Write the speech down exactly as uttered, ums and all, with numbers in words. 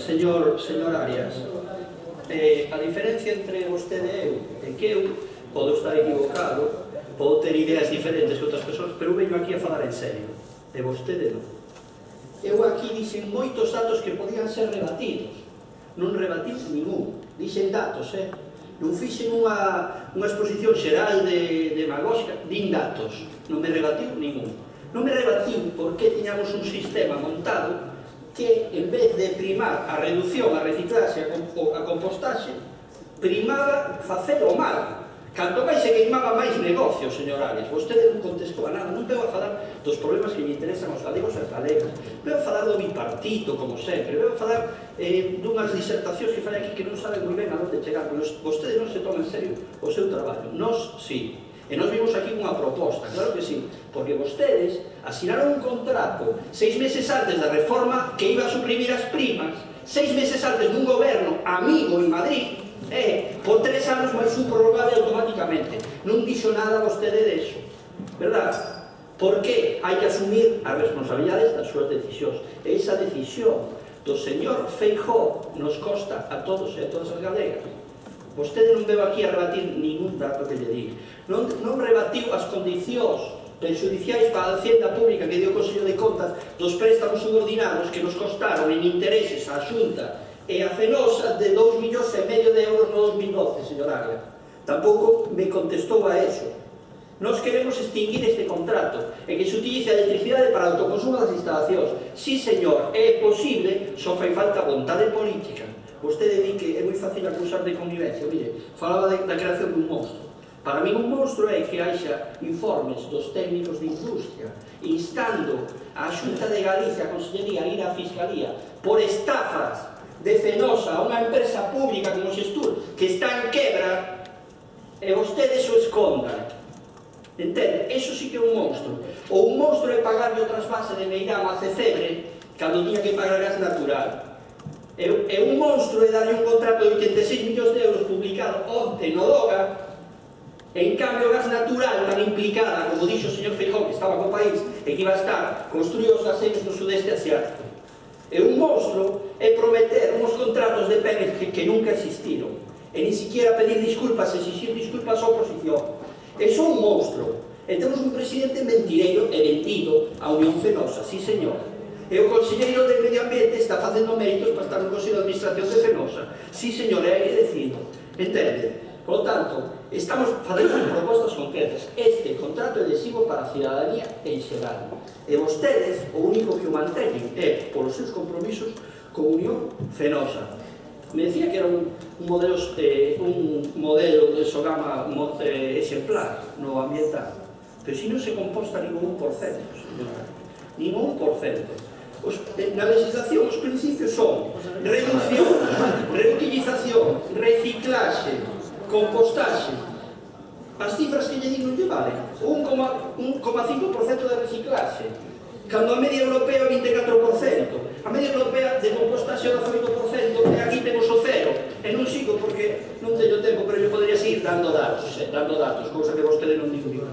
señor, señor Arias, eh, a diferencia entre vostede e eu é que eu podo estar equivocado, podo ter ideas diferentes que outras persoas, pero eu veño aquí a falar en serio, e vostede non. Eu aquí dixen moitos datos que podían ser rebatidos, non rebatín ningún, dixen datos, eh? Non fixen unha, unha exposición xeral de demagóxica, din datos, non me rebatiu ningún. Non me rebatiu porque tiñamos un sistema montado que, en vez de primar a reducción, a reciclaxe, a compostaxe, primaba facer o mal. Canto máis se queimaba máis negocio, señor Arias. Vostede non contestou a nada, non veo a falar dos problemas que lle interesan aos galegos e as galegas. Veo a falar do bipartito, como sempre. Veo a falar eh, dunhas disertacións que fai aquí que non saben moi ben a onde chegar. Pero vostede non se toma en serio o seu traballo. Nos, sí. E nos vimos aquí unha proposta, claro que sí. Porque vostedes asinaron un contrato seis meses antes da reforma que iba a suprimir as primas, seis meses antes dun goberno amigo en Madrid, Eh, por tres anos máis un prorrogable automáticamente. Non dixo nada vostede deso, verdad? Porque hai que asumir as responsabilidades das súas decisións. E esa decisión do señor Feijóo nos costa a todos e a todas as galegas. Vostede non veo aquí a rebatir ningún dato que lle diga. Non, non rebatiu as condicións prejudiciais para a Hacienda Pública que dio o Consello de Contas dos préstamos subordinados que nos costaron en intereses á Xunta e a Fenosa de dous millóns e medio de euros no dos mil doce, señor Arias. Tampouco me contestou a eso. Nos queremos extinguir este contrato e que se utilice a electricidade para o autoconsumo das instalacións. Sí, señor, é posible, só fai falta vontade política. Vostede di que é moi fácil acusar de connivencia. Mire, falaba de, da creación dun monstro. Para mí un monstro é que haxa informes dos técnicos de industria instando a Xunta de Galicia, a Consellería, a ir á Fiscalía por estafas de Fenosa, unha empresa pública como Xestur, que está en quebra, e vostedes o escondan. Entende? Eso sí que é un monstro. Ou un monstro é pagarle o trasvase de Meirama a Cecebre cando tiña que pagar gas natural. E, e un monstro é darlle un contrato de oitenta e seis millóns de euros publicado onte no Doga. En cambio, o gas natural tan implicada, como dixo o señor Feijóo, que estaba co país e que iba a estar, construíu os gaseiros no sudeste asiático. E un monstro é prometer uns contratos de Pemex que, que nunca existiron e ni siquiera pedir disculpas, exigir disculpas á oposición. É só un monstro. E temos un presidente mentireiro e vendido a Unión Fenosa, sí señor. E o conselleiro de Medio Ambiente está facendo méritos para estar no Consello de Administración de Fenosa, sí señor, e hai que decirlo. Entende? Por lo tanto, estamos facendo propostas concretas. Este contrato é lesivo para a cidadanía en xeral. E vostedes, o único que o manteñen é polos seus compromisos con Unión Fenosa. Me decía que era un, un, modelo, eh, un modelo de Sogama eh, exemplar no ambiental. Pero se non se composta ningún un por cento, señora. Ningún un por cento. Os, na legislación os principios son reducción, reutilización, reciclaxe, compostaxe. As cifras que lle digo non lle valen. un coma cinco por cento de reciclaxe, cando a media europea é vinte e catro por cento. A media europea de compostaxe é oito por cento e aquí temos o cero. E non sigo porque non teño tempo, pero eu podría seguir dando datos, eh, dando datos, cousa que vostede non digo.